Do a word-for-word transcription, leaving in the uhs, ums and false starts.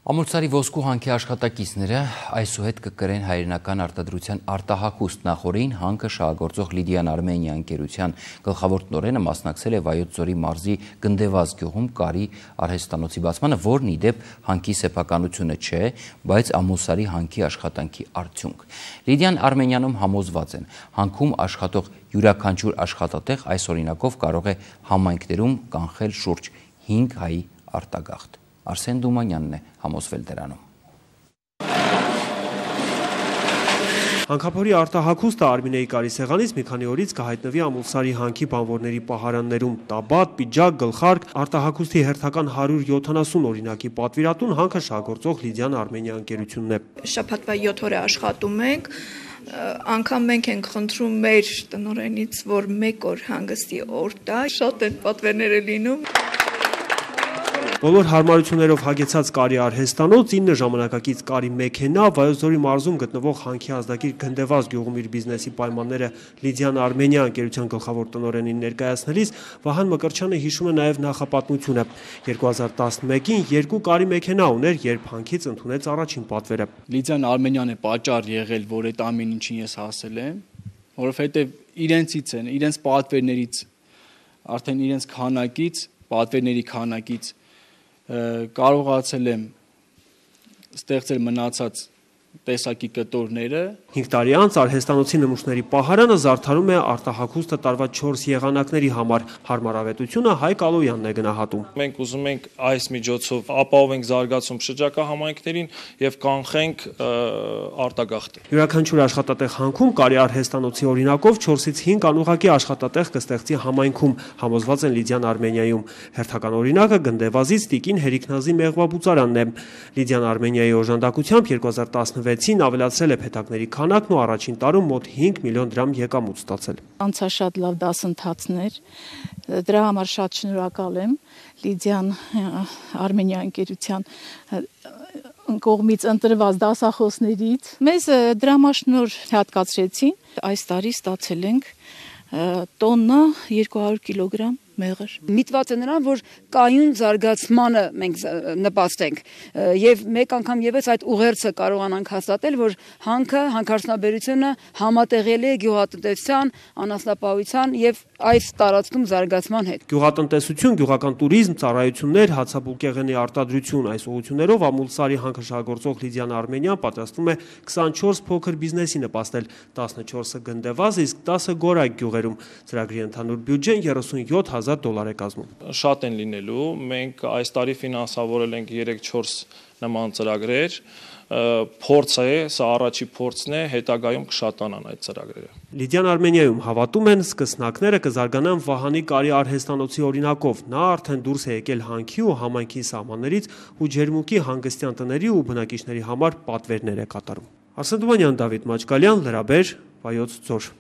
Ամուլսարի ոսկու հանքի աշխատակիցները այսուհետ կկրեն հայրենական արտադրության արտահակուստ նախորդին հանքը շահագործող Լիդիան Արմենիա ընկերության գլխավոր տնօրենը մասնակցել է Վայոց ձորի մարզի Գնդեվազ գյուղում կարի արհեստանոցի բացմանը, որն ի դեպ հանքի սեփականությունը չէ, բայց Ամուլսարի հանքի աշխատանքի արդյունք։ Լիդիան Արմենիանում համոզված են, հանքում աշխատող յուրաքանչյուր աշխատատեղ այս օրինակով կարող է համայնքներում կանխել շուրջ հինգ հայի արտագաղթ։ Արսեն Դումանյանն է համոզվել դրանում։ Հանքափորի արտահակուստը Արմինեի կարի սեղանից մի քանի օրից կհայտնվի Ամուլսարի հանքի բանվորների պահարաններում։ Տաբատ, պիջակ, գլխարկ, արտահակուստի հերթական հարյուր յոթանասուն օրինակի պատվիրատուն հանքը շահագործող Լիդիան Արմենիա ընկերությունն է։ Շաբաթվա յոթ օր է աշխատում ենք, անգամ մենք ենք խնդրում մեր տնօրենից, որ մեկ օր հանգստի օր տա, շատ են պատվերները լինում։ Բոլոր հարմարություններով հագեցած կարի արհեստանոց, ինը ժամանակակից կարի մեքենա, Վայոց ձորի մարզում գտնվող հանքի ազդագիր Գնդեվազ գյուղում իր բիզնեսի պայմանները Լիդիան Արմենիա ընկերության գլխավոր տնօրենին ներկայացնելիս Վահան Մկրտչյանը հիշում է նաև նախապատմությունը։ երկու հազար տասնմեկին երկու կարի մեքենա ուներ, երբ հանքից ընդունեց առաջին պատվերը։ Լիդիան Արմենիան է պատճառ եղել, որ այդ ամեն ինչին ես հասել եմ, որովհետև իրենցից են, իրենց պատվերներից, արդեն իրենց քանակից, պատվերների քանակից կարողացել եմ ստեղծել մնացած տեսակի կտորները։ հինգ տարի անց արհեստանոցի նմուշների պահարանը զարդարում է արտահակուստը տարված չորս եղանակների համար։ Հարմարավետությունը Հայկ Ալոյանն է գնահատում։ Մենք ուզում ենք այս միջոցով ապահովենք զարգացում շրջակա համայնքներին եւ կանխենք արտագաղթը։ Յուրաքանչյուր աշխատատեղ հանքում կարի արհեստանոցի օրինակով չորսից հինգ անուղղակի աշխատատեղ կստեղծի համայնքում, համոզված են Լիդիան Արմենիայում։ Հերթական օրինակը Գնդեվազից Տիկին Հերիքնազի մեղվաբուծարանն է։ Լիդիան Արմենիայի օժանդակությամբ երկու հազար տասնվեցին ավելացել է փեթակների քանակն ու առաջին տարում մոտ հինգ միլիոն դրամ եկամուտ ստացել։ Անցաշատ լավ դասընթացներ, դրա համար շատ շնորհակալ եմ Լիդիան Արմենիա ընկերության կողմից ընտրված դասախոսներից։ Մեզ դրամաշնոր հատկացրեցին, այս տարի ստացել ենք տոննա երկու հարյուր կիլոգրամ մեղր։ Միտված է նրան, որ կայուն զարգացմանը մենք նպաստենք եւ մեկ անգամ եւս այդ ուղերձը կարողանանք հաստատել, որ հանքը, հանքարդյունաբերությունը համատեղելի է գյուղատնտեսության, անասնապահության եւ այս տարածքում զարգացման հետ։ Գյուղատնտեսություն, գյուղական տուրիզմ, ծառայություններ, հացաբուլկեղենի արտադրություն այս ուղղություններով Ամուլսարի հանքը շահագործող Լիդիան Արմենիան պատրաստվում է քսանչորս փոքր բիզնեսի նպաստել, տասնչորսը Գնդեվազ, իսկ տասը Գորակ գյուղերում։ Ծրագրի ընդհանուր բյուջեն երեսունյոթ հազար դոլար է կազմում։ Շատ են լինելու, մենք այս տարի ֆինանսավորել ենք երեք-չորս նման ծրագրեր, փորձ է, սա առաջի փորձն է, հետագայում կշատանան այդ ծրագրերը։ Լիդիան Արմենիայում հավատում են, սկսնակները կզարգանան Վահանի կարի արհեստանոցի օրինակով։ Նա արդեն դուրս է եկել հանքի ու համայնքի սահմաններից ու ջերմուկի հանգստյան տների ու բնակիչների համար պատվերներ է կատարում։ Արսեն Դումանյան, Դավիթ Մաչկալյան, Լրաբեր, Վայոց ձոր։